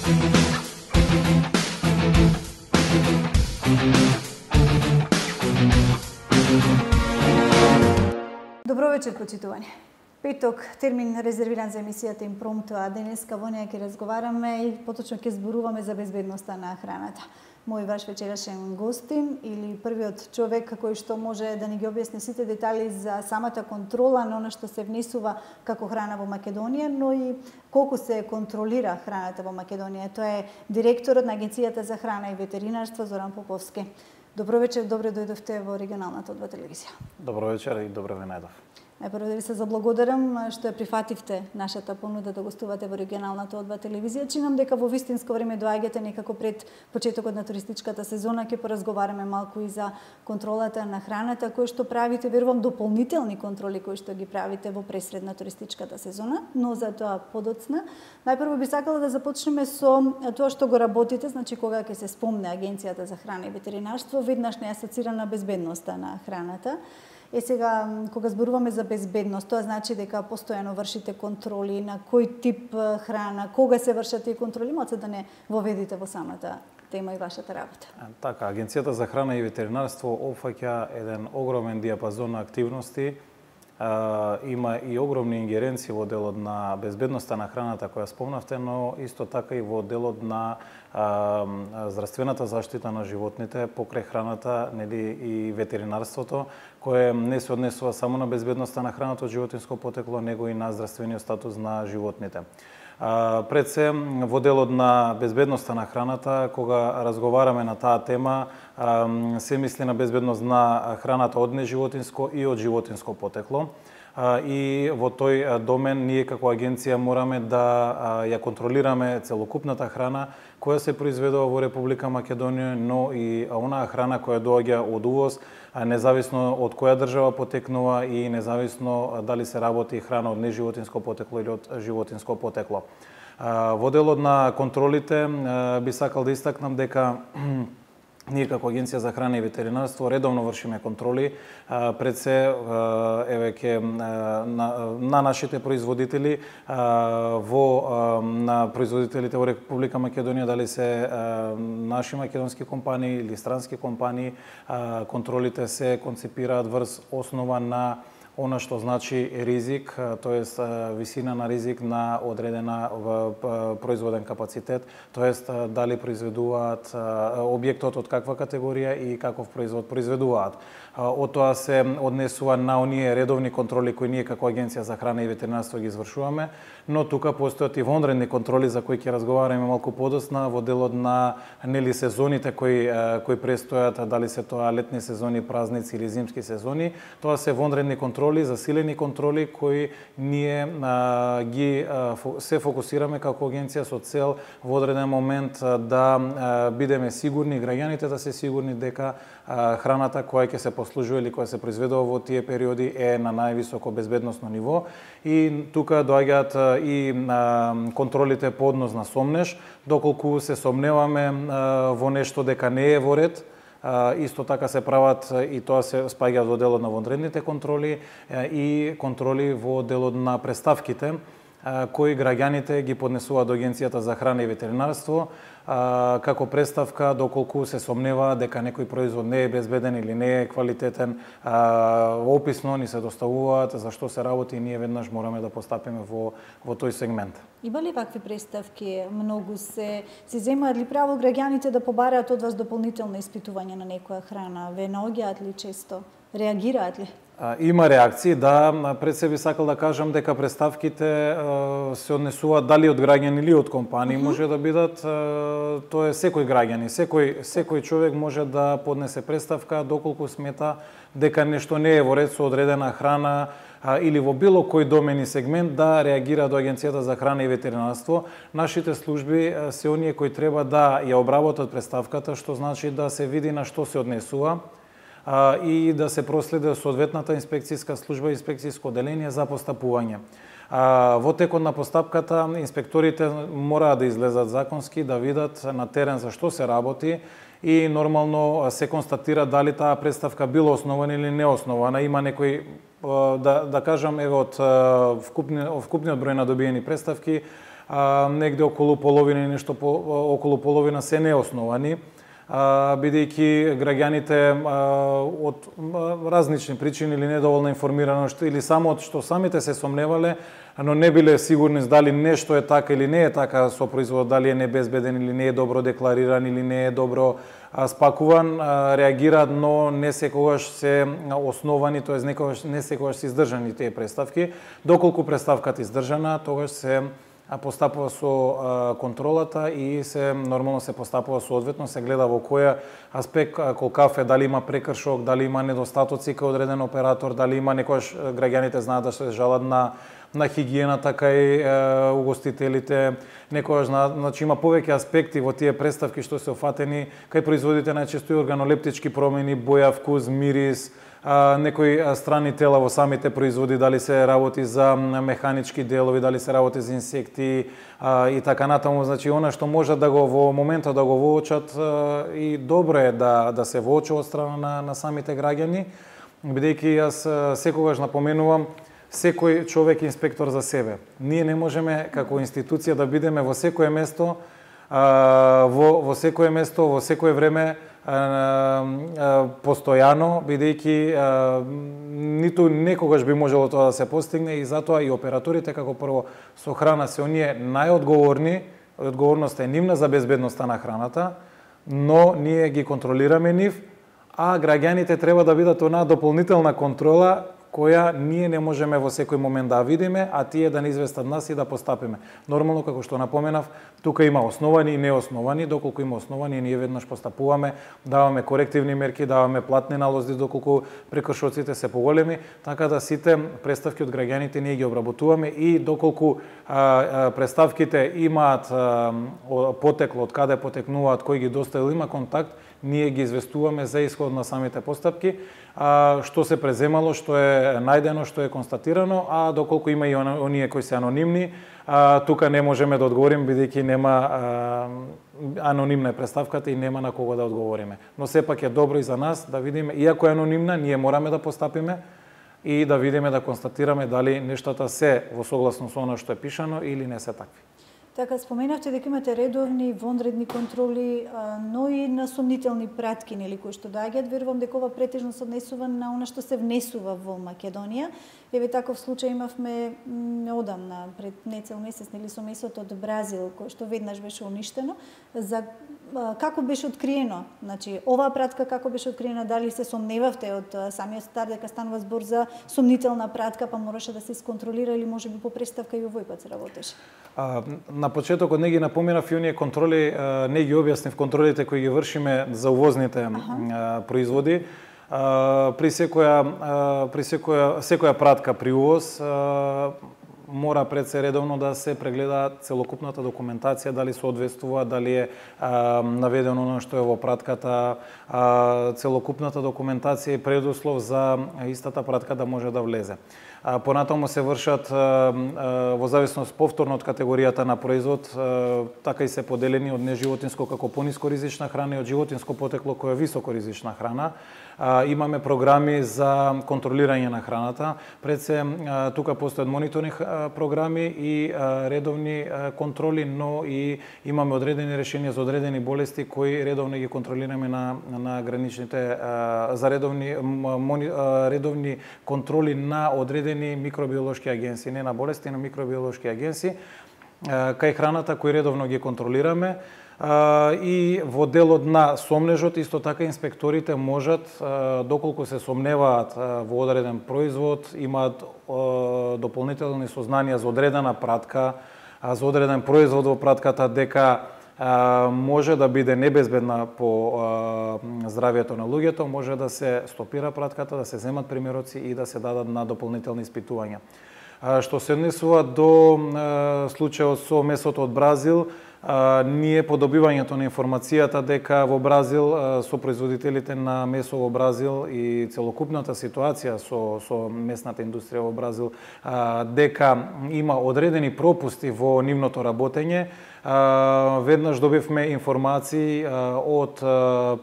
Добро вечер, почитувани. Петок, термин резервиран за емисијата Импромто, а денеска во неја ќе разговараме и поточно ќе зборуваме за безбедноста на храната. Мој ваш вечерашен гостин или првиот човек кој што може да ни ги објасни сите детали за самата контрола на она што се внесува како храна во Македонија, но и колку се контролира храната во Македонија. Тоа е директорот на Агенцијата за храна и ветеринарство Зоран Поповски. Добро вечер, добре дојдовте во регионалната одба телевизија. Добро вечер и добро ве најдов. Најпрво да ви се заблагодарам што ја прифативте нашата понуда да гостувате во регионалната одба телевизија. Чинам дека во вистинско време доаѓате некако пред почетокот на туристичката сезона. Ќе поразговараме малку и за контролата на храната, кој што правите, верувам, дополнителни контроли кои што ги правите во пресред на туристичката сезона, но за тоа подоцна. Најпрво би сакала да започнеме со тоа што го работите, значи кога ќе се спомне Агенцијата за храна и ветеринарство, веднаш не асоцирана безбедноста на храната. Сега, кога зборуваме за безбедност, тоа значи дека постојано вршите контроли на кој тип храна, кога се вршат тие контроли, може да не воведите во самата тема и вашата работа. Така, Агенцијата за храна и ветеринарство опфаќа еден огромен диапазон на активности. Има и огромни ингеренции во делот на безбедноста на храната која спомнавте, но исто така и во делот на здравствената заштита на животните покрај храната, нели и ветеринарството, кое не се однесува само на безбедноста на храната од животинско потекло, него и на здравствениот статус на животните. Пред се, во делот на безбедноста на храната, кога разговараме на таа тема, се мисли на безбедност на храната од неживотинско и од животинско потекло. И во тој домен ние како агенција мораме да ја контролираме целокупната храна која се произведува во Република Македонија, но и онаа храна која доаѓа од увоз, независно од која држава потекнува и независно дали се работи храна од неживотинско потекло или од животинско потекло. Во делот на контролите би сакал да истакнам дека ние како Агенција за храна и ветеринарство редовно вршиме контроли пред се на нашите производители на производителите во Република Македонија, дали се наши македонски компании или странски компании. Контролите се концепираат врз основа на она што значи ризик, тоест висина на ризик на одредена производен капацитет, тоест дали произведуваат објектот од каква категорија и каков производ произведуваат. Од тоа се однесува на оние редовни контроли кои ние како Агенција за храна и ветеринарство ги извршуваме, но тука постојат и вонредни контроли за кои ќе разговараме малку подоцна во делот на нели сезоните кои престојат, дали се тоа летни сезони, празници или зимски сезони. Тоа се вонредни контроли, засилени контроли кои ние се фокусираме како агенција со цел во одреден момент да бидеме сигурни, граѓаните да се сигурни дека храната која ќе се послужува или која се произведува во тие периоди е на највисоко безбедносно ниво. И тука доаѓаат и контролите по однос на сомнеш, доколку се сомневаме во нешто дека не е во ред. Исто така се прават и тоа се спаѓа во делот на вонредните контроли и контроли во делот на преставките кои граѓаните ги поднесуваат до Агенцијата за храна и ветеринарство како преставка доколку се сомнева дека некој производ не е безбеден или не е квалитетен. Описно ни се доставуваат за што се работи и ние веднаш мораме да постапиме во тој сегмент. Има ли вакви преставки? Многу се земаат ли право граѓаните да побараат од вас дополнително испитување на некоја храна? Ве наоѓаат ли често? Реагираат ли? Има реакции, да. Пред се би сакал да кажам дека преставките се однесуваат дали од граѓани или од компании, може да бидат, тоа е секој граѓани, секој човек може да поднесе преставка доколку смета дека нешто не е во ред со одредена храна или во било кој домен и сегмент да реагира до Агенцијата за храна и ветеринарство. Нашите служби се оние кои треба да ја обработат преставката, што значи да се види на што се однесува и да се проследи соодветната инспекцијска служба и инспекцијско одделение за постапување. Во текот на постапката инспекторите мораат да излезат законски, да видат на терен за што се работи и нормално се констатира дали таа преставка била основана или неоснована. Има некои, да кажам, еве од вкупниот број на добиени преставки, негде околу половина и нешто околу половина се неосновани, бидејќи граѓаните од различни причини или недоволна информираност или само од што самите се сомневале, но не биле сигурни дали нешто е така или не е така со производот, дали е небезбеден или не е добро деклариран или не е добро спакуван, реагираат, но не секогаш се основани, тоест не секогаш се издржани тие представки. Доколку представката е издржана, тогаш се постапува со контролата и се нормално се постапува соодветно, се гледа во кој аспект колкав е, дали има прекршок, дали има недостатоци кај одреден оператор, дали има некојаш граѓаните знаат да се жалат на хигиената кај угостителите, некојаш значи има повеќе аспекти во тие представки што се офатени, кај производите најчесто и органолептички промени, боја, вкус, мирис, некои страни тела во самите производи, дали се работи за механички делови, дали се работи за инсекти и така натаму. Значи, она што може да го во моментот да го воочат и добро е да се воочи од страна на самите граѓани, бидејќи јас секогаш напоменувам, секој човек е инспектор за себе. Ние не можеме како институција да бидеме во секое место, во секое место, во секое време постојано, бидејќи ниту некогаш би можело тоа да се постигне и затоа и операторите како прво со храна се оние најодговорни, одговорноста е нивна за безбедноста на храната, но ние ги контролираме нив, а граѓаните треба да бидат онаа дополнителна контрола која ние не можеме во секој момент да видиме, а тие да не известат нас и да постапиме. Нормално, како што напоменав, тука има основани и неосновани, доколку има основани, ние веднаш постапуваме, даваме корективни мерки, даваме платни налози доколку прекршоците се поголеми, така да сите представки од граѓаните ние ги обработуваме и доколку представките имаат потекло, од каде потекнуваат, кој ги доставил, има контакт, ние ги известуваме за исход на самите постапки, што се преземало, што е најдено, што е констатирано, а доколку има и оние кои се анонимни, тука не можеме да одговориме, бидејќи нема анонимна представката и нема на кого да одговориме. Но сепак е добро и за нас да видиме, иако е анонимна, ние мораме да постапиме и да видиме, да констатираме дали нештата се во согласно со она што е пишано или не се такви. Така, споменавте дека имате редовни, вонредни контроли, но и на сомнителни пратки, нели, кои што доаѓаат. Верувам дека ова претежно се однесува на она што се внесува во Македонија. Еве таков случај имавме неодамна, пред нецел месец, нели, со месото од Бразил, кој што веднаш беше уништено. За како беше откриено? Значи, оваа пратка како беше откриена? Дали се сомневавте од самиот старт дека станува збор за сомнителна пратка, па мораше да се исконтролира или можеби по преставка и овој пат се работеше? На почетокот не ги напоменав и оние контроли, не ги објаснив контролите кои ги вршиме за увозните производи. При секоја пратка при увоз мора пред се редовно да се прегледа целокупната документација, дали соодветствува, дали е наведено она што е во пратката, целокупната документација и предуслов за истата пратка да може да влезе. Понатаму се вршат во зависност повторно од категоријата на производ, така и се поделени од неживотинско како пониско ризична храна и од животинско потекло кој е високо ризична храна. Имаме програми за контролирање на храната. Пред се тука постојат мониторинг програми и редовни контроли, но и имаме одредени решенија за одредени болести кои редовно ги контролираме на граничните за редовни контроли на одредени микробиолошки агенции, не на болести, на микробиолошки агенции. Кај храната кои редовно ги контролираме, и во делот на сомнежот исто така инспекторите можат, доколку се сомневаат во одреден производ, имаат дополнителни сознанија за одредена пратка, за одреден производ во пратката, дека може да биде небезбедна по здравието на луѓето, може да се стопира пратката, да се земат примероци и да се дадат на дополнителни испитувања. Што се однесува до случајот со месото од Бразил, ние по добивањето на информацијата дека во Бразил со производителите на месо во Бразил и целокупната ситуација со месната индустрија во Бразил, дека има одредени пропусти во нивното работење, Веднаш добивме информации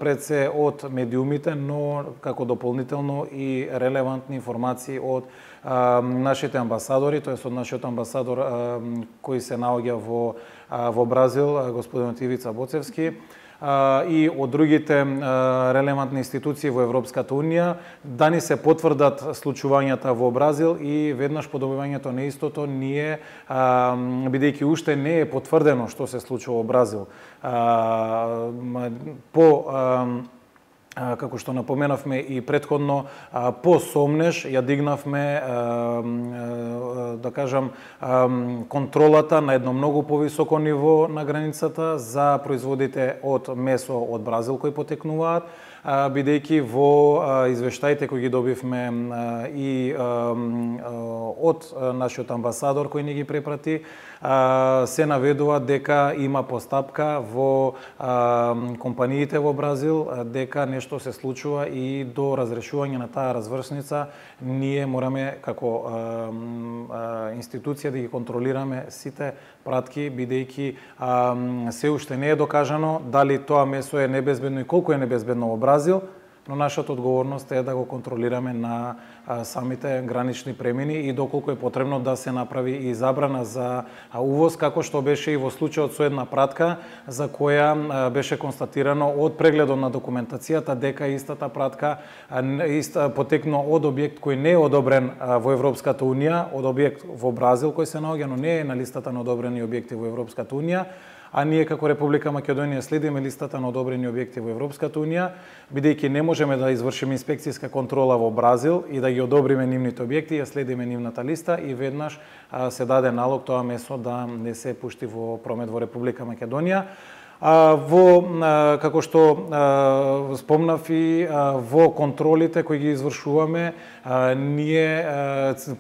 пред се од медиумите, но како дополнително и релевантни информации од нашите амбасадори, тоест од нашиот амбасадор кој се наоѓа во Бразил, господинот Ивица Боцевски, и од другите релевантни институции во Европската Унија, да ни се потврдат случувањата во Бразил и веднаш по добивањето на истото ние, бидејќи уште не е потврдено што се случува во Бразил, како што напоменавме и претходно, по сомнеж ја дигнавме, да кажам, контролата на едно многу повисоко ниво на границата за производите од месо од Бразил кои потекнуваат, бидејќи во извештаите кои ги добивме и од нашиот амбасадор кој ни ги препрати, се наведува дека има постапка во компаниите во Бразил, дека нешто се случува и до разрешување на таа развршница ние мораме како институција да ги контролираме сите пратки, бидејќи се уште не е докажано дали тоа месо е небезбедно и колку е небезбедно во Бразил, но нашата одговорност е да го контролираме на самите гранични премини и доколку е потребно да се направи и забрана за увоз, како што беше и во случајот со една пратка за која беше констатирано од прегледот на документацијата дека истата пратка потекнува од објект кој не е одобрен во Европската Унија, од објект во Бразил кој се наоѓа, но не е на листата на одобрени објекти во Европската Унија. А ние како Република Македонија следиме листата на одобрени објекти во Европската Унија, бидејќи не можеме да извршиме инспекцијска контрола во Бразил и да ги одобриме нивните објекти, ја следиме нивната листа и веднаш се даде налог тоа месо да не се пушти во промет во Република Македонија. Како што спомнав и во контролите кои ги извршуваме, ние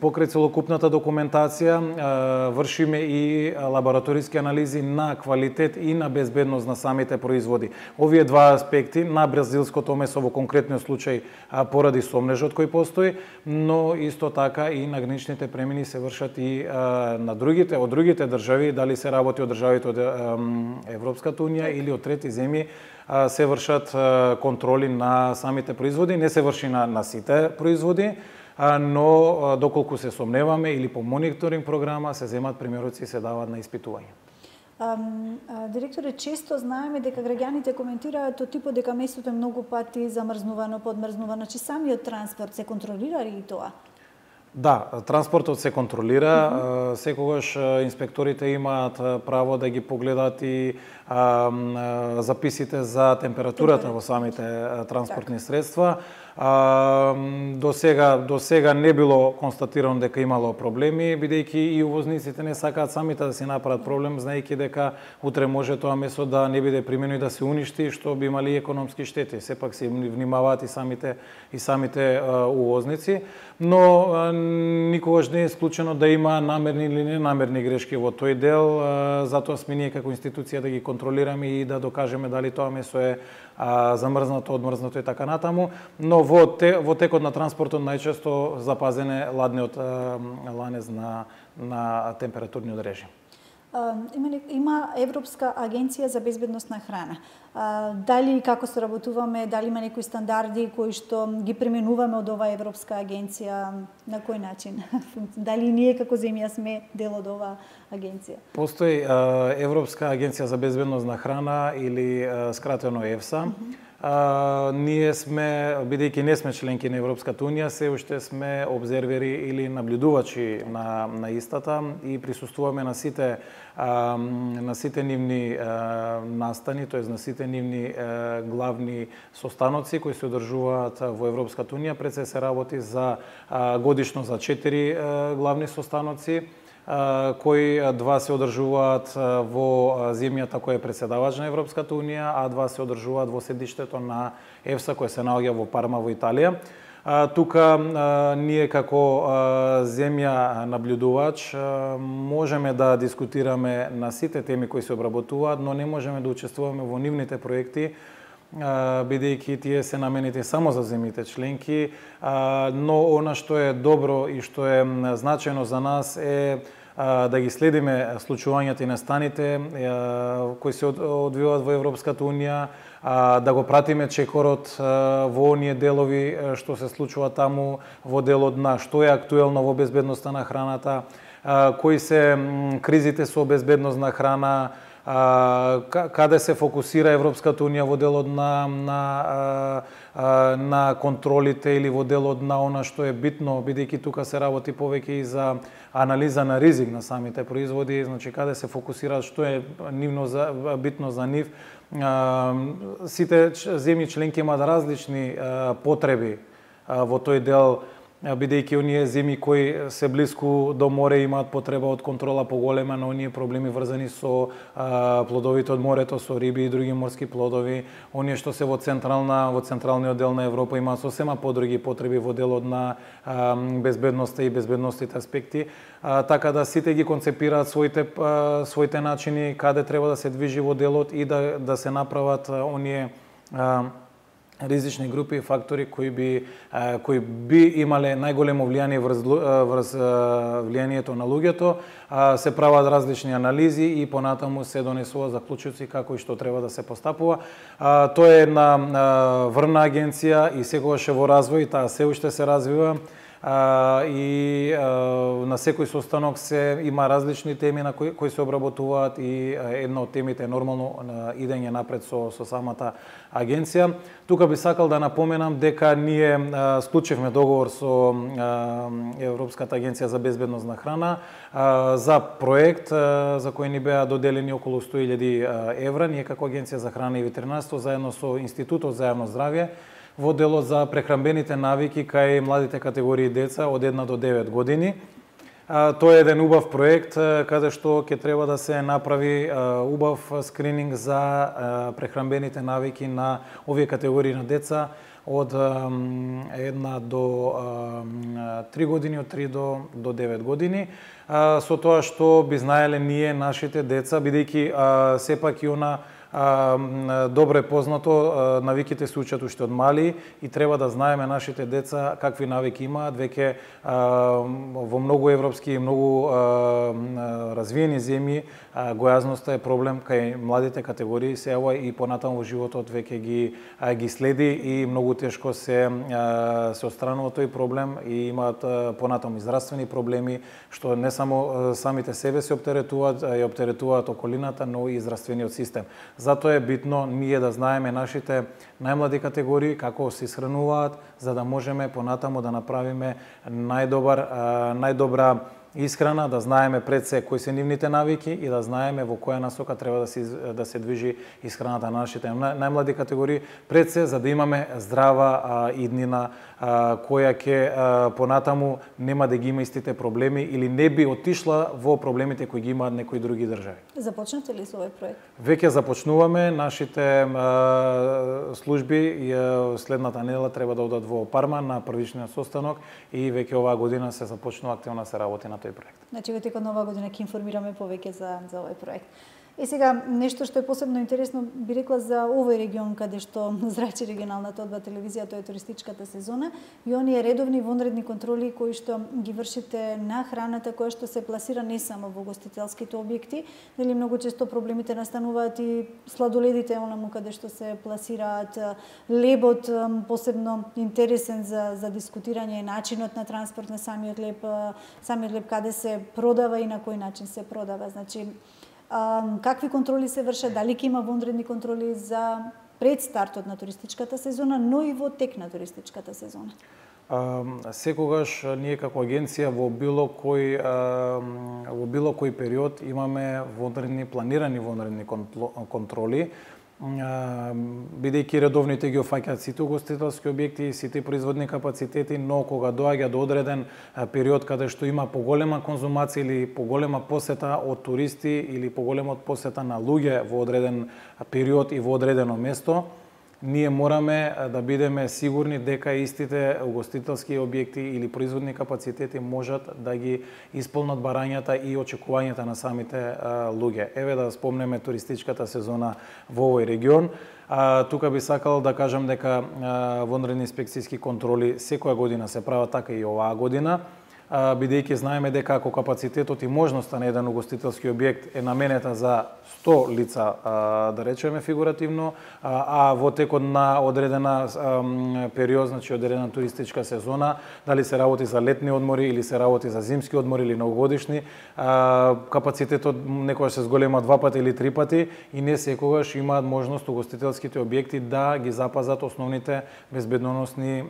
покрај целокупната документација вршиме и лабораториски анализи на квалитет и на безбедност на самите производи. Овие два аспекти на бразилското месо во конкретниот случај поради сомнежот кој постои, но исто така и на граничните премини се вршат и на другите, од другите држави, дали се работи од државите од Европската Унија или од трети земји, се вршат контроли на самите производи. Не се врши на сите производи, но доколку се сомневаме или по мониторинг програма се земат примероци и се дават на испитување. Директоре, често знаеме дека граѓаните коментираат од типот дека месото е многу пати замрзнувано, подмрзнувано, че самиот транспорт се контролира ли тоа? Да, транспортот се контролира, секогаш инспекторите имаат право да ги погледат и записите за температурата во самите транспортни средства. До сега не било констатирано дека имало проблеми, бидејќи и увозниците не сакаат самите да си направат проблем, знаејќи дека утре може тоа месо да не биде примено и да се уништи, што би имали економски штети. Сепак се внимаваат и самите увозници, но никогаш не е исклучено да има намерни или ненамерни грешки во тој дел, затоа сме ние како институција да ги контролираме и да докажеме дали тоа месо е замрзнато, одмрзнато и така натаму, но во текот на транспортот најчесто запазен е ладниот ланец на температурниот режим. Има Европска агенција за безбедност на храна. Дали како соработуваме, дали има некои стандарди кои што ги применуваме од оваа Европска агенција, на кој начин? Дали ние како земја сме дел од оваа агенција? Постои Европска агенција за безбедност на храна или скратено ЕФСА. Ние сме, бидејќи не сме членки на Европската Унија, се уште сме обзервери или наблюдувачи на истата и присуствуваме на сите нивни настани, тоест на сите нивни главни состаноци кои се одржуваат во Европската Унија. Пред се работи за годишно за 4 главни состаноци, кои два се одржуваат во земјата која е председавач на Европската Унија, а два се одржуваат во седиштето на ЕФСА кој се наоѓа во Парма во Италија. Тука ние како земја наблюдувач можеме да дискутираме на сите теми кои се обработуваат, но не можеме да учествуваме во нивните проекти, бидејќи тие се наменети само за земјите членки, но она што е добро и што е значајно за нас е да ги следиме случувањата и настаните кои се одвиваат во Европската унија, да го пратиме чекорот во оние делови што се случува таму во делот на што е актуелно во безбедноста на храната, кои се кризите со безбедност на храна, каде се фокусира Европската унија во делот на контролите или во делот на она што е битно, бидејќи тука се работи повеќе и за анализа на ризик на самите производи, значи каде се фокусираат, што е битно за нив. Сите земји членки имаат различни потреби во тој дел, бидејќи оние земји кои се блиску до море имаат потреба од контрола поголема на оние проблеми врзани со плодовите од морето, со риби и други морски плодови. Оние што се во централниот дел на Европа имаат сосема подруги потреби во делот на безбедноста и безбедностите аспекти, така да сите ги концепираат своите начини каде треба да се движи во делот и да се направат оние ризични групи и фактори кои би имале најголемо влијание врз влијанието на луѓето, се прават различни анализи и понатаму се донесува заклучоци како и што треба да се постапува. Тоа е една врвна агенција и секогаш е во развој, таа се уште се развива. И на секој состанок се има различни теми на кои се обработуваат и една од темите е нормално идење напред со самата агенција. Тука би сакал да напоменам дека ние склучивме договор со Европската агенција за безбедност на храна за проект за кој ни беа доделени околу 100.000 евра. Ние како Агенција за храна и ветеринарство заедно со Институтот за јавно здравје во делот за прехранбените навики кај младите категории деца од 1 до 9 години. Тоа е еден убав проект каде што ќе треба да се направи убав скрининг за прехранбените навики на овие категории на деца од 1 до 3 години, од 3 до 9 години. Со тоа што би знаеле ние нашите деца, бидејќи сепак и она добро е познато, навиките се учат уште од мали и треба да знаеме нашите деца какви навики имаат. Веќе во многу европски и многу развиени земји гојазноста е проблем кај младите категории се јава и понатаму во животот веќе ги следи и многу тешко се отстранува тој проблем и имаат понатаму здравствени проблеми што не само самите себе се оптеретуваат, ја оптеретуваат околината, но и здравствениот систем. Затоа е битно ние да знаеме нашите најмлади категории како се исхрануваат, за да можеме понатаму да направиме најдобра исхрана, да знаеме пред се кои се нивните навики и да знаеме во која насока треба да се движи исхраната на нашите најмлади категории, пред се за да имаме здрава иднина која ќе понатаму нема да ги има истите проблеми или не би отишла во проблемите кои ги имаат некои други држави. Започнате ли со овој проект? Веќе започнуваме, нашите служби следната недела треба да одат во Парма на првичниот состанок и веќе оваа година се започнува активно се работи на тој проект. Значи во текот на оваа година ќе информираме повеќе за овој проект. И сега, нешто што е посебно интересно, би рекла за овој регион каде што зрачи регионалната одба телевизија, тоа е туристичката сезона, и оние редовни вонредни контроли кои што ги вршите на храната која што се пласира не само во гостителските објекти, нели многу често проблемите настануваат и сладоледите, онаму каде што се пласираат, лебот, посебно интересен за дискутирање е начинот на транспорт на самиот леб каде се продава и на кој начин се продава. Значи, какви контроли се вршат, дали ќе има вонредни контроли за пред стартот на туристичката сезона, но и во тек на туристичката сезона? Секогаш ние како агенција во било кој период имаме планирани вонредни контроли, бидејќи редовните ги офаќаат сите угостителски објекти, сите производни капацитети, но кога доаѓа до одреден период каде што има поголема конзумација или поголема посета од туристи или поголема посета на луѓе во одреден период и во одредено место, ние мораме да бидеме сигурни дека истите угостителски објекти или производни капацитети можат да ги исполнат барањата и очекувањата на самите луѓе. Еве да спомнеме туристичката сезона во овој регион. Тука би сакал да кажам дека вонредни инспекцијски контроли секоја година се прават, така и оваа година. бидејќи знаеме дека ако капацитетот и можноста на еден угостителски објект е наменета за 100 лица, да речеме фигуративно, а во текот на одредена период, значи одредена туристичка сезона, дали се работи за летни одмори или се работи за зимски одмори или новогодишни, капацитетот некогаш се зголема 2 пати или 3 пати и не секогаш имаат можност угостителските објекти да ги запазат основните безбедносни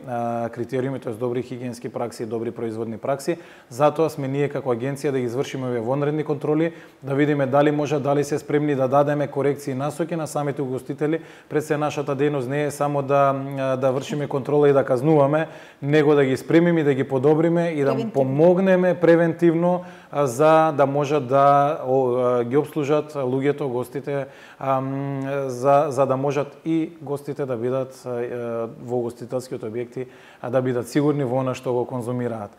критериуми, тоест добри хигиенски пракси, добри производни пракси. Затоа сме ние како агенција да ги извршиме овие вонредни контроли, да видиме дали може, дали се спремни да дадеме корекции и насоки на самите угостители. Пред се нашата дејност не е само да вршиме контрола и да казнуваме, него да ги спремиме и да ги подобриме и да помогнеме превентивно за да можат да ги обслужат луѓето, гостите, за да можат и гостите да бидат во угостителските објекти, да бидат сигурни во она што го конзумираат.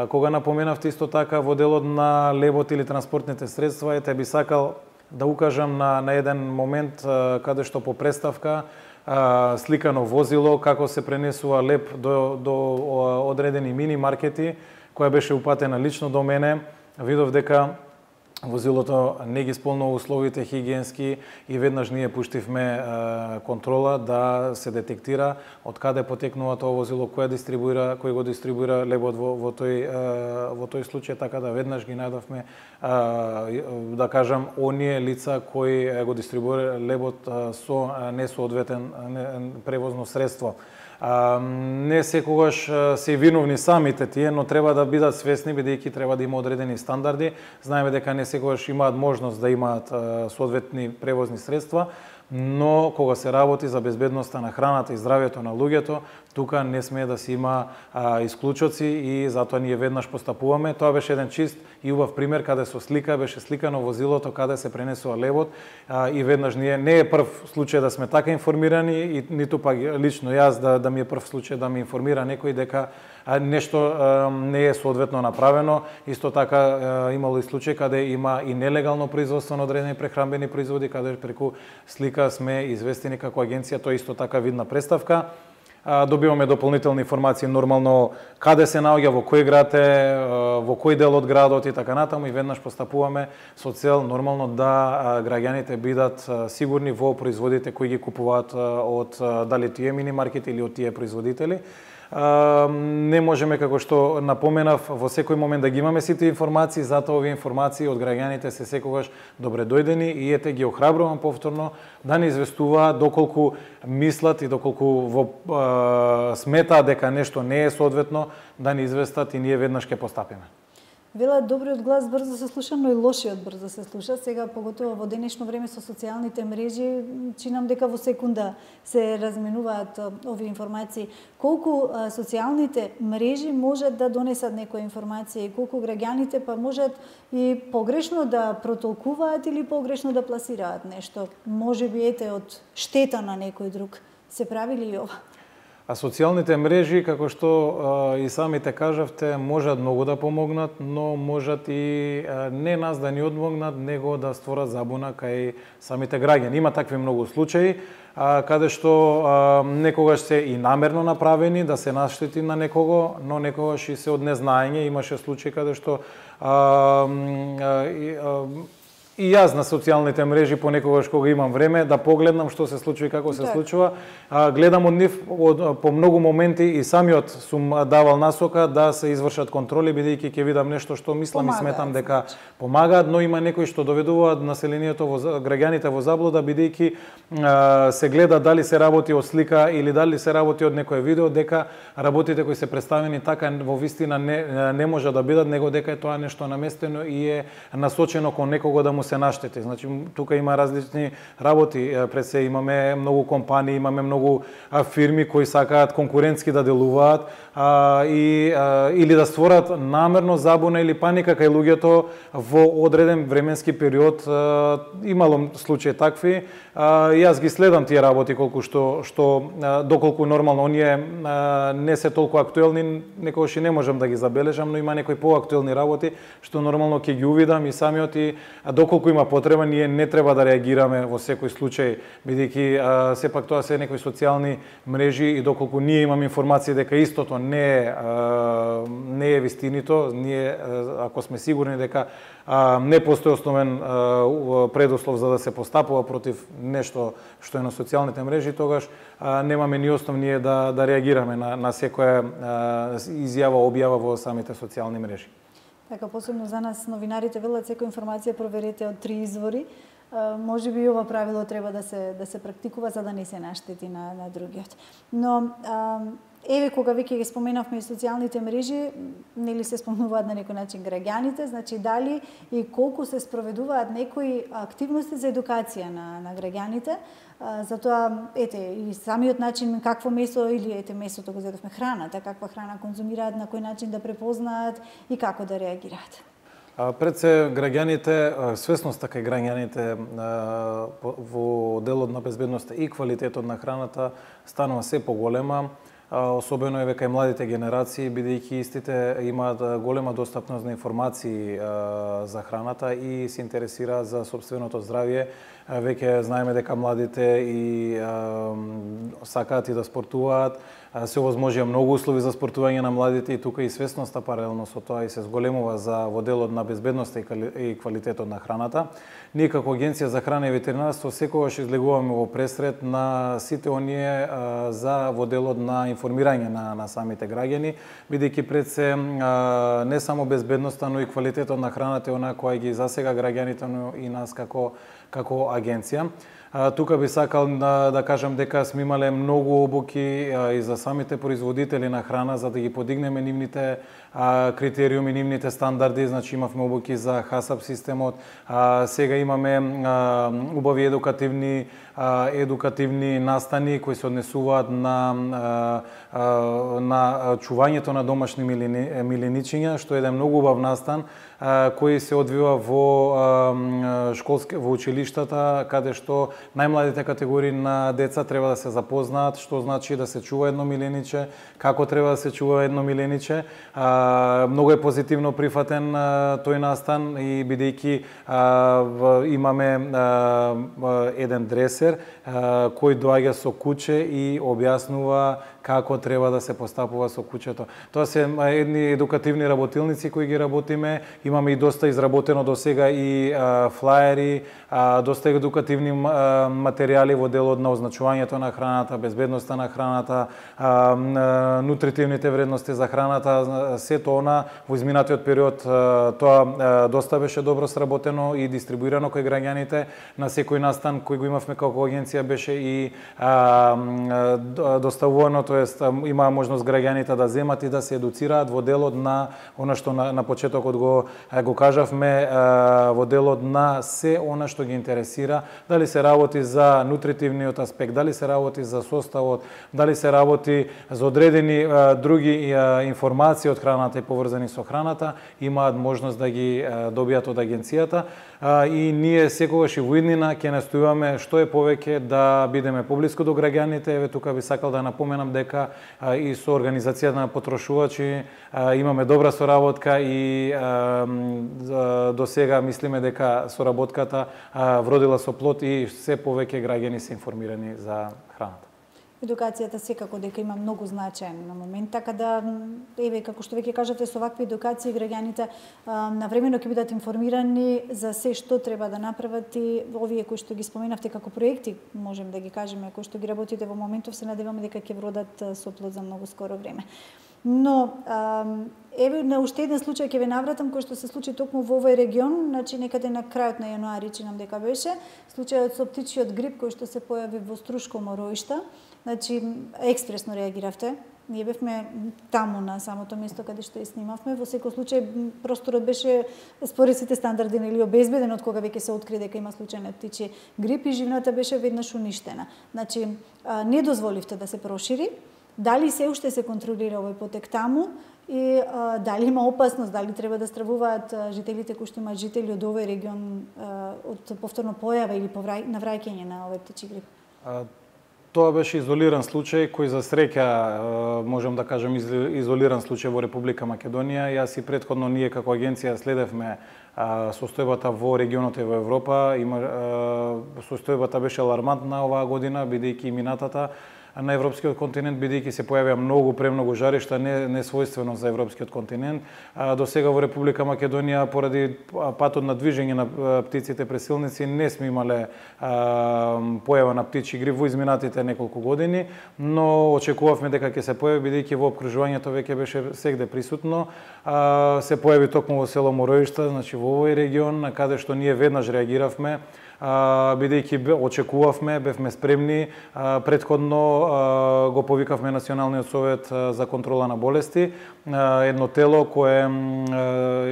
Кога напоменавте исто така во делот на лебот или транспортните средства, би сакал да укажам на еден момент каде што по преставка сликано возило како се пренесува леб до одредени мини маркети, која беше упатена лично до мене. Видов дека возилото не ги исполнува условите хигиенски и веднаш ние пуштивме контрола да се детектира од каде потекнува тоа возило, кој го дистрибуира лебот во тој случај, така да веднаш ги најдовме, да кажам, оние лица кои го дистрибуира лебот со несоодветен превозно средство. Не секогаш се виновни самите тие, но треба да бидат свесни, бидејќи треба да има одредени стандарди. Знаеме дека не секогаш имаат можност да имаат соодветни превозни средства, но кога се работи за безбедноста на храната и здравјето на луѓето, тука не смее да се има исклучоци и затоа ние веднаш постапуваме. Тоа беше еден чист и убав пример каде со слика беше сликано возилото каде се пренесува лебот и веднаш ние не е прв случај да сме така информирани и ниту пак лично јас да ми е прв случај да ме информира некој дека нешто не е соодветно направено. Исто така имало и случај каде има и нелегално производство на одредени прехранбени производи, каде преку слика сме известени како агенција, тоа исто така видна представка. Добиваме дополнителни информации нормално каде се наоѓа, во кој град е, во кој дел од градот и така натаму и веднаш постапуваме со цел нормално да граѓаните бидат сигурни во производите кои ги купуваат од дали тие мини маркети или од тие производители. Не можеме, како што напоменав, во секој момент да ги имаме сите информации, затоа овие информации од граѓаните се секогаш добре дојдени и ете ги охрабрувам повторно да не известуваат доколку мислат и доколку сметаат дека нешто не е соодветно, да не известат и ние веднаш ќе постапиме. Велат добриот глас брзо се слуша, но и лошиот брзо се слуша. Сега, поготово во денешно време со социјалните мрежи, чинам дека во секунда се разменуваат овие информации. Колку социјалните мрежи можат да донесат некоја информација и колку граѓаните па можат и погрешно да протолкуваат или погрешно да пласираат нешто. Можеби ете од штета на некој друг. Се прави ли ова? А социјалните мрежи, како што и самите кажавте, можат многу да помогнат, но можат и не нас да ни одмогнат, него да створат забуна кај самите граѓани. Има такви многу случаи, каде што некогаш се и намерно направени да се наштети на некого, но некогаш и се од незнаење. Имаше случаи каде што и јас на социјалните мрежи понекогаш кога имам време да погледнам што се случува и како се случува, гледам од нив по многу моменти и самиот сум давал насока да се извршат контроли, бидејќи ќе видам нешто што мислам и сметам дека помагаат, но има некои што доведуваат населението, граѓаните во заблуда, бидејќи се гледа дали се работи од слика или дали се работи од некое видео, дека работите кои се представени така во вистина не може да бидат, него дека е тоа нешто наместено и е насочено кон некого да му се наштети. Значи, тука има различни работи. Пред се имаме многу компании, имаме многу фирми кои сакаат конкурентски да делуваат или да створат намерно забуна или паника кај луѓето во одреден временски период. Имало случаи такви. Јас ги следам тие работи доколку нормално оние не се толку актуелни, некогаш и не можам да ги забележам, но има некои поактуелни работи што нормално ќе ги увидам и самиот и доколку доколку има потреба, ние не треба да реагираме во секој случај, бидејќи сепак тоа се некои социјални мрежи и доколку ние имаме информација дека истото не е вистинито, ние ако сме сигурни дека не постои основен предуслов за да се постапува против нешто што е на социјалните мрежи, тогаш немаме ни основ ние да реагираме на секоја изјава, објава во самите социјални мрежи. Така, посебно за нас новинарите велат секоја информација проверете од 3 извори. Може би и ова правило треба да се практикува за да не се наштети на другиот. Но еве кога веќе ги споменавме и социјалните мрежи, нели се спомнуваат на некој начин граѓаните, значи дали и колку се спроведуваат некои активности за едукација на граѓаните, затоа и самиот начин какво месо или месото го зедовме, храната, каква храна конзумираат, на кој начин да препознаат и како да реагираат. Пред се граѓаните, свесноста кај граѓаните во делот на безбедноста и квалитетот на храната станува се поголема, особено кај младите генерации, бидејќи истите имаат голема достапност на информации за храната и се интересираат за собственото здравје. Веќе знаеме дека младите и сакаат и да спортуваат, се овозможија многу услови за спортување на младите и тука и свесноста паралелно со тоа и се зголемува во делот на безбедноста и квалитетот на храната. Ние како Агенција за храна и ветеринарство секогаш излегуваме во пресред на сите оние во делот на информирање на самите граѓани, бидејќи пред се не само безбедноста, но и квалитетот на храната е она која ги засега граѓаните, но и нас како агенција. Тука би сакал да кажам дека сме имале многу обуки и за самите производители на храна за да ги подигнеме нивните критериуми, нивните стандарди, значи имавме обуки за ХАСАП системот, сега имаме убави едукативни настани кои се однесуваат на чувањето на домашни миленичиња, што е еден многу убав настан кој се одвива во училиштата, каде што најмладите категории на деца треба да се запознаат што значи да се чува едно милениче, како треба да се чува едно милениче. Многу е позитивно прифатен тој настан и бидејќи имаме еден дресер кој доаѓа со куче и објаснува како треба да се постапува со кучето. Тоа се едни едукативни работилници кои ги работиме. Имаме и доста изработено до сега и флаери, доста едукативни материјали во делот на означувањето на храната, безбедноста на храната, нутритивните вредности за храната, сето она во изминатиот период тоа доста беше добро сработено и дистрибуирано кај граѓаните. На секој настан кој го имавме како агенција беше и доставувано, тоест имаа можност граѓаните да земат и да се едуцираат во делот на она што на почетокот го кажавме, во делот на се она што ги интересира, дали се работи за нутритивниот аспект, дали се работи за составот, дали се работи за одредени други информации од храната и поврзани со храната, имаат можност да ги добијат од агенцијата и ние секогаш и во иднина ќе настојуваме што е повеќе да бидеме поблиску до граѓаните. Еве тука би сакал да напоменам дека и со организацијата на потрошувачи имаме добра соработка и до сега мислиме дека соработката вродила со плод и се повеќе граѓани се информирани за храната. Едукацијата секако дека има многу значаен на момент, така да, еве, како што веќе кажате, со вакви едукации граѓаните навремено ќе бидат информирани за се што треба да направат и овие кои што ги споменавте како проекти, можем да ги кажеме, кои што ги работите во моментов, се надеваме дека ќе вродат со плод за многу скоро време. Но, еве, на уште еден случај ќе ве навратам, кој што се случи токму во овој регион, значи некаде на крајот на јануари, чинам дека беше, случајот со птичиот грип кој што се појави во Струшко Мороишта. Значи, експресно реагиравте. Ние бевме таму на самото место каде што ја снимавме. Во секој случај, просторот беше според сите стандарди нели обезбеден од кога веќе се откри дека има случај на птичи грип и живната беше веднаш уништена. Значи, не дозволивте да се прошири. Дали се уште се контролира овој потек таму и дали има опасност, дали треба да стравуваат жителите кои што имаат жители од овој регион од повторно појава или навраќање на овој птичи грип? Тоа беше изолиран случај кој за среќа можем да кажем изолиран случај во Република Македонија. Јас и претходно ние како агенција следевме состојбата во регионот и во Европа. Состојбата беше алармантна оваа година, бидејќи минатата на европскиот континент, бидејќи се појавија премногу жаришта, не својствено за европскиот континент. До сега во Република Македонија, поради патот на движење на птиците пресилници, не сме имале појава на птичи грип во изминатите неколку години, но очекувавме дека ќе се појави, бидејќи во опкружувањето веќе беше сегде присутно. Се појави токму во село Мороишта, значи во овој регион, каде што ние веднаш реагиравме, бидејќи очекувавме, бевме спремни. Претходно го повикавме Националниот совет за контрола на болести, едно тело кое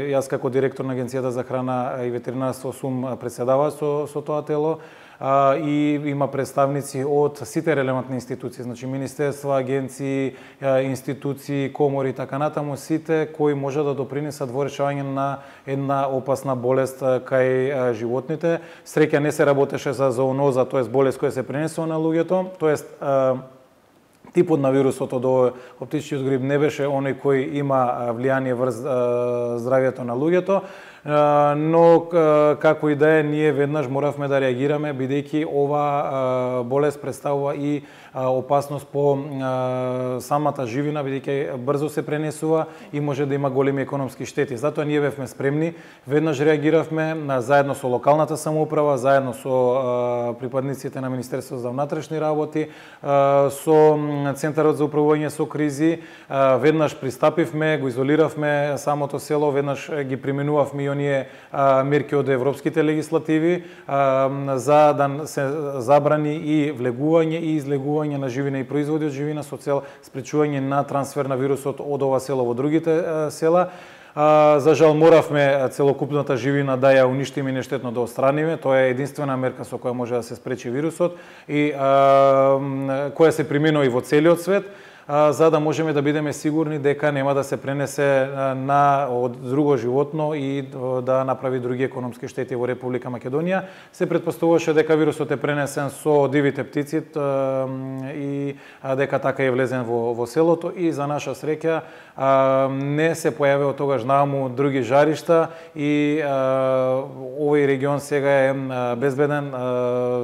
јас како директор на Агенцијата за храна и ветеринарство сум председава со тоа тело, и има представници од сите релевантни институции, значи министерства, агенции, институции, комори и така натаму, сите кои може да допринесат во решавање на една опасна болест кај животните. Среќа не се работеше за зооноза, тоест болест која се пренесува на луѓето, тоест типот на вирусот од птичиот грип не беше оној кој има влијание врз здравјето на луѓето, но како и да е, ние веднаш моравме да реагираме, бидејќи ова болест представува и опасност по самата живина, бидејќи брзо се пренесува и може да има големи економски штети. Затоа ние бевме спремни, веднаш реагиравме заедно со локалната самоуправа, заедно со припадниците на Министерството за внатрешни работи, со Центарот за управување со кризи, веднаш пристапивме, го изолиравме самото село, веднаш ги применувавме и оние мерки од европските легислативи за да се забрани и влегување и излегување на живина и производи од живина со цел спречување на трансфер на вирусот од ова село во другите села. За жал моравме целокупната живина да ја уништиме и нештетно да отстраниме. Тоа е единствена мерка со која може да се спречи вирусот и која се применува и во целиот свет, за да можеме да бидеме сигурни дека нема да се пренесе од друго животно и да направи други економски штети во Република Македонија. Се претпоставуваше дека вирусот е пренесен со дивите птици и дека така е влезен во селото, и за наша среќа не се појавиа од тогаш нааму други жаришта и овој регион сега е безбеден.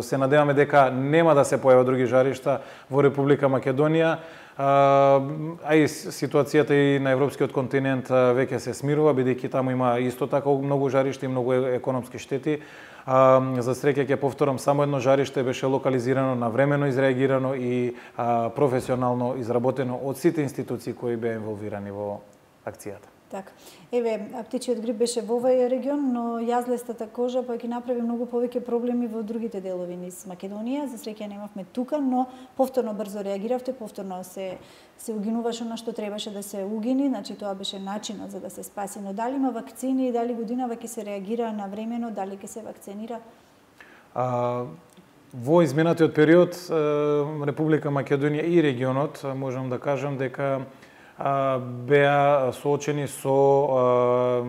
Се надеваме дека нема да се појават други жаришта во Република Македонија. А и ситуацијата и на европскиот континент веќе се смирува, бидејќи таму има исто така многу жаришти и многу економски штети. За среќа ќе повторам, само едно жариште беше локализирано, навремено изреагирано и професионално изработено од сите институции кои беа инволвирани во акцијата. Така. Еве, птичиот грип беше во овој регион, но јазлестата кожа па ќе направи многу повеќе проблеми во другите делови низ Македонија. За среќа немавме тука, но повторно брзо реагиравте, повторно се угинуваше на што требаше да се угини, значи тоа беше начинот за да се спаси. Но дали има вакцини и дали годинава ќе се реагира навремено, дали ќе се вакцинира? Во изминатиот период Република Македонија и регионот можам да кажам дека беа соочени со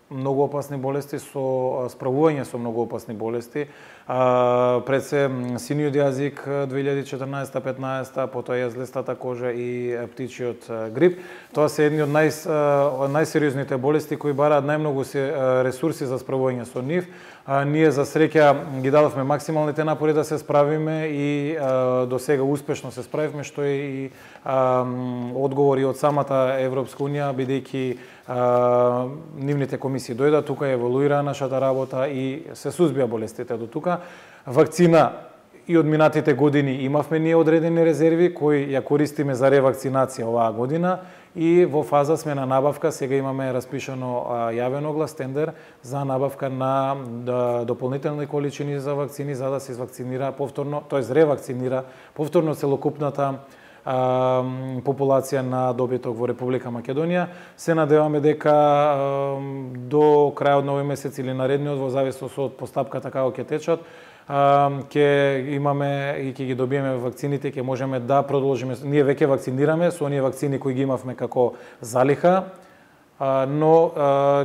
многу опасни болести, со справување со многу опасни болести. Пред се синиот јазик 2014-15, потоа јазлестата кожа и птичиот грип. Тоа се едни од најсериозните болести кои бараат најмногу ресурси за справување со нив. Ние за среќа ги дадовме максималните напори да се справиме и до сега успешно се справивме, што е и одговори од самата Европска Унија, бидејќи нивните комисии дојда тука, еволуира нашата работа и се сузбија болестите до тука. Вакцина и од минатите години имавме ние одредени резерви кои ја користиме за ревакцинација оваа година и во фаза сме на набавка. Сега имаме распишано јавен оглас, тендер за набавка на дополнителни количини за вакцини за да се извакцинира повторно, тоест ревакцинира повторно целокупната популација на добиток во Република Македонија. Се надеваме дека до крајот на овој месец или наредниот, во зависност од постапката како ќе течат, ќе имаме и ќе ги добиеме вакцините, ќе можеме да продолжиме. Ние веќе вакцинираме со оние вакцини кои ги имавме како залиха, но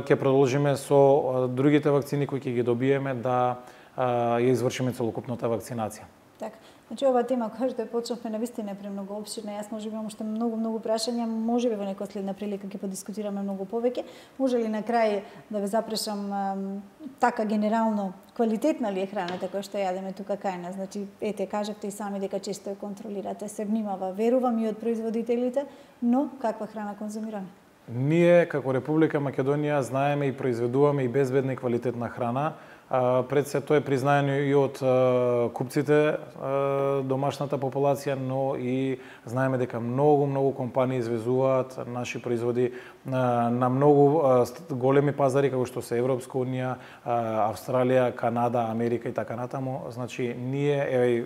ќе продолжиме со другите вакцини кои ќе ги добиеме да ја извршиме целокупната вакцинација. Така. Значи ова тема која што почнавме навистина е премногу опширна. Јас можеби имам уште многу прашања, можеби во некоја следна прилика ќе подискутираме многу повеќе. Може ли на крај да ве запрашам така генерално квалитетна ли е храната која што јадеме тука кај нас? Значи ете кажавте и сами дека често ја контролирате, се внимава, верувам и од производителите, но каква храна конзумираме? Ние како Република Македонија знаеме и произведуваме и безбедна и квалитетна храна. Пред се тоа е признаено и од купците, домашната популација, но и знаеме дека многу компании извезуваат наши производи на многу големи пазари како што се Европска унија, Австралија, Канада, Америка и така натаму. Значи ние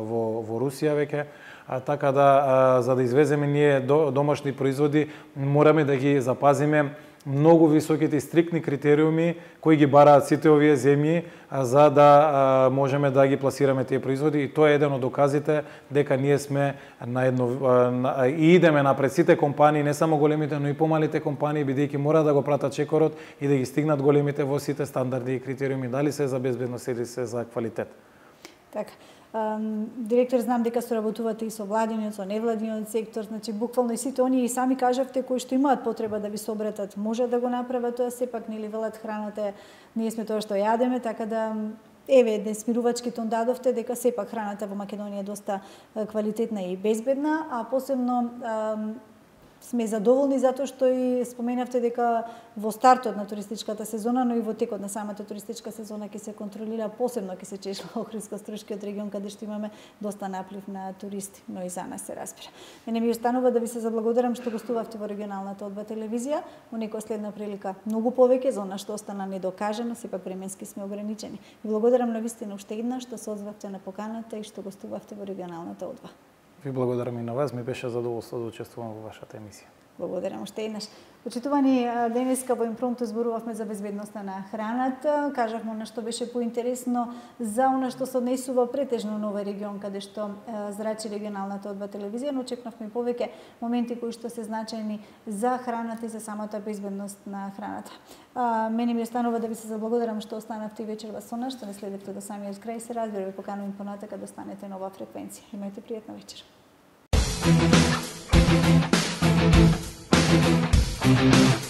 во Русија веќе, така да за да извеземе ние домашни производи мораме да ги запазиме многу високите и стриктни критериуми кои ги бараат сите овие земји за да можеме да ги пласираме тие производи, и тоа е еден од доказите дека ние сме на едно и идеме напред сите компании, не само големите, но и помалите компании, бидејќи мора да го пратат чекорот и да ги стигнат големите во сите стандарди и критериуми, дали се за безбедност или се за квалитет. Така. Директор, знам дека соработувате и со владиниот, со невладиниот сектор, значи буквално и сите оние и сами кажавте кои што имаат потреба да ви се обратат, може да го направат тоа, сепак нели велат храната, ние сме тоа што јадеме, така да еве смирувачки тон дадовте дека сепак храната во Македонија е доста квалитетна и безбедна, а посебно сме задоволни затоа што и споменавте дека во стартот на туристичката сезона, но и во текот на самата туристичка сезона ќе се контролира, посебно ќе се чешува Охридско-Струшкиот регион каде што имаме доста наплив на туристи, но и за нас се разбира. Мене ми останува да ви се заблагодарам што гостувавте во регионалната одба телевизија, во некоја следна прилика многу повеќе за она што остана недокажано, сепак временски сме ограничени. Ви благодарам навистина уште еднаш што се озвавте на поканата и што гостувавте во регионалната одба. Ви благодарам и на вас, ми беше задоволство да учествувам во вашата емисија. Благодарам уште еднаш. Почитувани, денеска во Импромту зборувавме за безбедноста на храната, кажавме на што беше поинтересно за она што се однесува претежно на овој регион каде што зрачи регионалната одба телевизија, но очекнавме повеќе моменти кои што се значајни за храната и за самата безбедност на храната. Мене ми останува да ви се заблагодарам што останавте и вечерва со нас, што не следевте до самиот крај, се разбира, ви поканувам понатака да останете на оваа фреквенција. Имајте пријатна вечер. Thank you.